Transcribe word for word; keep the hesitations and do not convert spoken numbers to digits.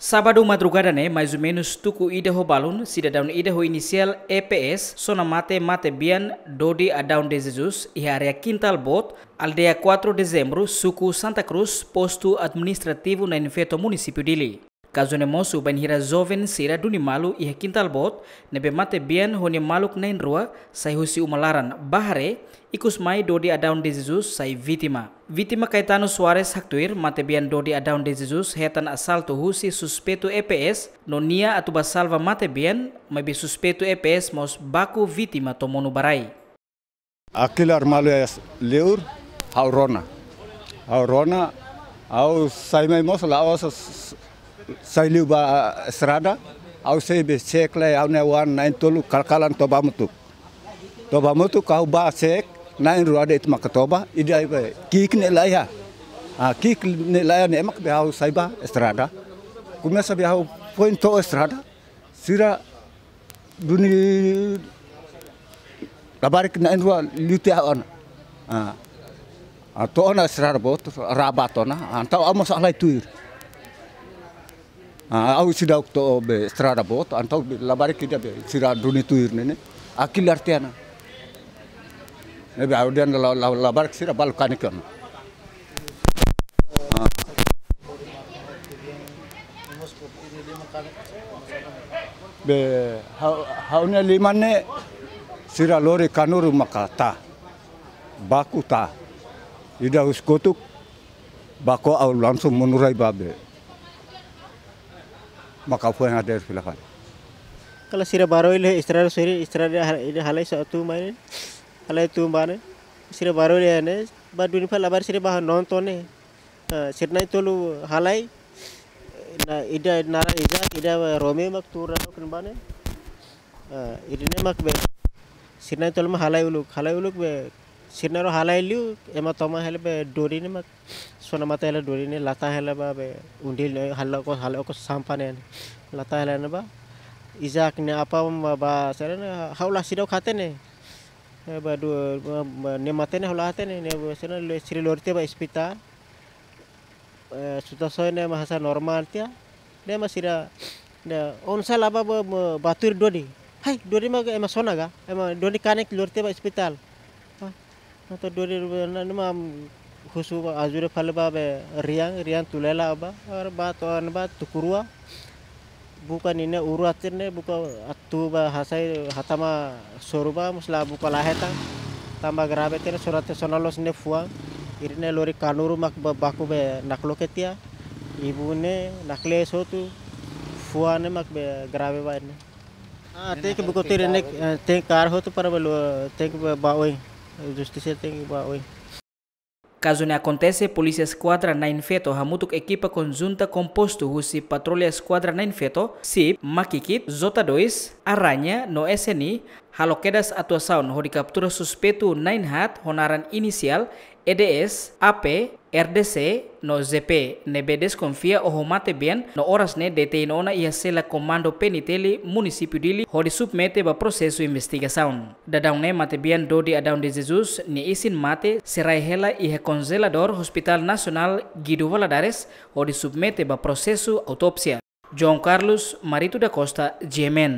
Sábadu madrugada ne'e, mais ou menus tuku ida ho balun, sidadaun ida ho inisiál E P S sona mate matebian Dodi Adão de Jesus iha área Kintal Boot, aldeia quatro Dezembro, suku Santa Cruz, postu administrativu Nain Feto, munisípiu Dili. Kazu ne'e mosu bainhira joven sira duni malu iha Kintal Boot, ne'ebé matebian ho nia maluk na'in-rua sai husi uma laran ba haree, ikusmai Dodi Adão de Jesus sai vítima. Vítima Caetano Soares haktuir, matebian Dodi Adão de Jesus hetan asaltu husi suspeitu E P S, no nia atu bá salva matebian, maibé suspeitu E P S mós baku vítima to'o monu ba rai. Akilar malu es leur, ha'u rona. Ha'u rona, ha'u sai mai mós la'ós s-, s-, sai liu ba estrada, ha'u sei be cek lai, ha'u-nia oan na'in-tolu kalkalan toba hamutuk. Toba hamutuk, ha'u bá cek, na'in-rua de'it maka toba, ida be ki'ik ne'e laiha. Ah, ki'ik ne'e laiha ne'e mak be ha'u sai ba estrada. Komesa be ha'u foin to'o estrada, sira duni labarik na'in-rua liu tiha ona. Ah. Ah, to'o ona estrada boot, raba to'o ona. Entaun ha'u mós halai tuir. Ah, ha'u seidauk to'o be estrada boot, entaun be labarik ida be sira duni tuir ne'e ne'e. Akilar tiha ona. Ne'ebé ha'u dehan la, la, labarik sira balu kanek ona. Ah. Be, ha'u, ha'u-nia liman ne'e sira lori kanuru maka tah. Baku tah. Ida husi kotuk, baku ha'u langsung monu rai ba be. Maka foin hadeer fila fali. Kalau sira baru ile estrada sori, estrada ha-, ida halai sa'e tun mai ne'e. Halai tun ba ne'e. Sira baru ile ne'e, ba duni fali labarik sira bá nonton ne'e. Eh, sira na'in-tolu halai, na ida naran Isaac, ida Romeo mak tuur ona kan ba ne'e. Eh, ida ne'e mak be, sira na'in-tolu mak halai uluk, halai uluk be, sira na'in-rua halai liu, ema toman hela be Dodi ne'e mak, sona mate hela Dodi ne'e, latan hela ba be, undil ne'e, halai okos, halai okos sampah ne'e, latan hela ne'e ba. Isaac nia apá mak ba, sira ne'e, ha'u la seidauk hatene. Eh, ba du, ba, ba, nia mate ne'e ha'u la hatene, ne'e ba sira ne'e, sira lori tiha ba ospitál. Eh, situasaun ne'e mak hasa'e normál tiha. Ne'e mak sira, ne'e, oinsá la ba, ba, ba, bá tuir Dodi. Hai, Dodi mak ema sona ka? Ema Dodi kanek lori tiha ba ospitál. Ah, entaun Dodi, ne'e, ne'e mak husu ba ajuda fali ba be Rian, Rian Tulela ba, ar ba to'o an ba Tukurua. Buka ninia uru atir ne'e, buka atu ba hasai hatama soru ba, mós la buka la hetan. Tanba grave tiha ne'e, soru atir sona loos ne'e fuan. Ida ne'e lori kanuru mak ba baku be nakloke tiha. Ibun ne'e naklees hotu, fuan ne'e mak be grave ba ne'e. Ah, tenke buka tuir ne'e, eh, tenke kaer hotu para be lo, tenke ba, ba oin. Justisa tenke ba oin. Kazu ne'e akontese, Polísia Eskuadra Nain Feto hamutuk ekipa konjunta kompostu husi Patrulla Eskuadra Nain Feto, SIP, Makikit, J dois, Aranha no S N I, halo kedas atuasaun hodi kaptura suspeitu na'in-haat ho naran inisiál E D S, A P, R D C no Z P, ne'ebé deskonfia oho matebian no oras ne'e detein ona iha sela Komandu P N T L munisípiu Dili hodi submete ba prosesu investigasaun. Daudaun ne'e matebian Dodi Adão de Jesus nia isin-mate sei rai hela iha konjeladór Hospital Nasionál Guido Valadares hodi submete ba prosesu autópsia. João Carlos Marito da Costa, G M N.